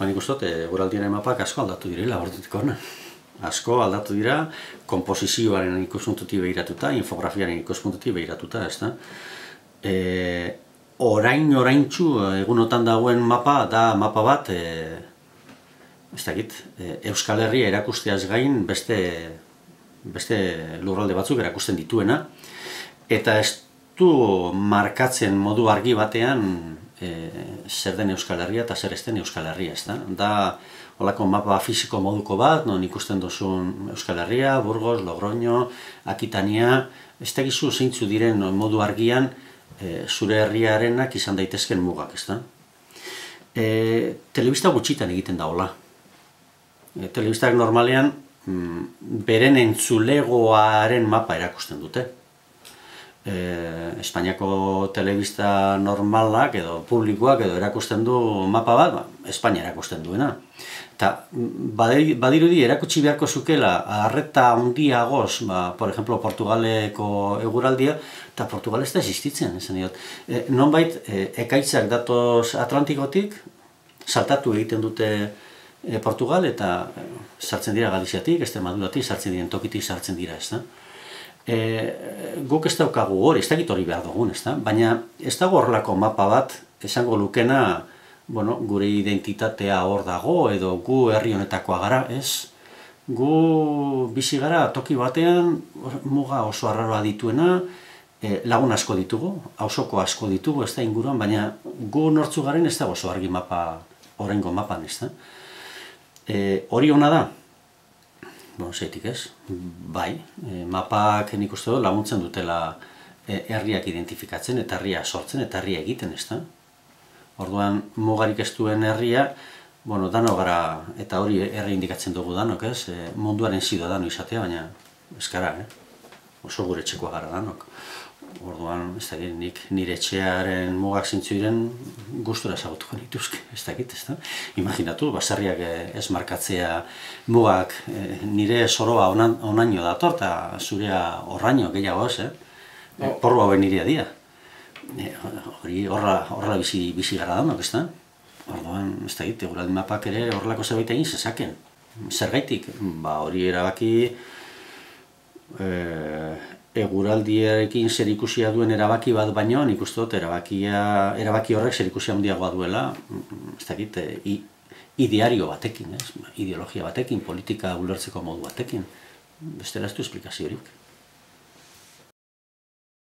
Nik uste dut, eguraldiaren mapak asko aldatu direla ordutik hona. Asko aldatu dira, komposizioaren ikuspuntutik behiratuta, infografiaren ikuspuntutik behiratuta, ez da. Oraintxu egunotan dagoen mapa da mapa bat, ez dakit, Euskal Herria erakusteaz gain beste lurralde batzuk erakusten dituena, eta ez du markatzen modu argi batean zer den Euskal Herria eta zer ez den Euskal Herria, ez da. Da, holako mapa fisiko moduko bat, non ikusten duzun Euskal Herria, Burgos, Logroño, Akitania, ez dakizu zeintzu diren modu argian zure herriarenak izan daitezken mugak, ez da. Telebista gutxitan egiten da hola. Telebistak normalean beren entzulegoaren mapa erakusten dute. Espainiako telebista normalak edo publikoak edo erakusten du mapa bat, Espainia erakusten duena. Eta badirudi erakutsi beharko zukela arreta handiagoz, por ejemplo, Portugaleko eguraldia, eta Portugal ez da existitzen, esan diot. Nonbait, ekaitzak datoz Atlantikotik, saltatu egiten dute Portugal, eta sartzen dira Galiziatik, Extremaduratik, sartzen diren tokitik sartzen dira, ez da. Guk ez daukagu hori, ez dakit hori behar dugun, ez da? Baina ez dago horrelako mapa bat, esango lukena, gure identitatea hor dago, edo gu herri honetakoa gara, ez? Gu bizi gara toki batean, muga oso arraroa dituena, lagun asko ditugu, auzoko asko ditugu, ez da inguruan, baina gu nortzu garen ez dago oso argi mapa, oraingo mapan, ez da? Hori ona da? Zeitik ez, bai, mapak nik uste dut laguntzen dutela herriak identifikatzen eta herria sortzen eta herria egiten, ez da? Orduan, mugarik ez duen herria, dano gara, eta hori herri indikatzen dugu danok, ez? Munduaren ziudadano izatea, baina ez gara, oso gure etxekoa gara danok. Orduan, ez dakit, nik nire etxearen mugak zintzu diren gustura ezagutuko nituzke, ez dakit, ez da? Imaginatu, baserriak ez markatzea mugak nire soroa onaino dator, eta zurea horraino gehiago ez, porru hauen nirea dira. Hori horrela bizi gara danok, ez da? Orduan, ez dakit, eguraldi mapak ere horrelako zerbait egin zezaken. Zergaitik, hori erabaki eguraldiarekin zerikusia duen erabaki bat baino, nik uste dut erabaki horrek zerikusia handiagoa duela, ez dakit, ideario batekin, ideologia batekin, politika ulertzeko modu batekin. Bestela ez du esplikaziorik.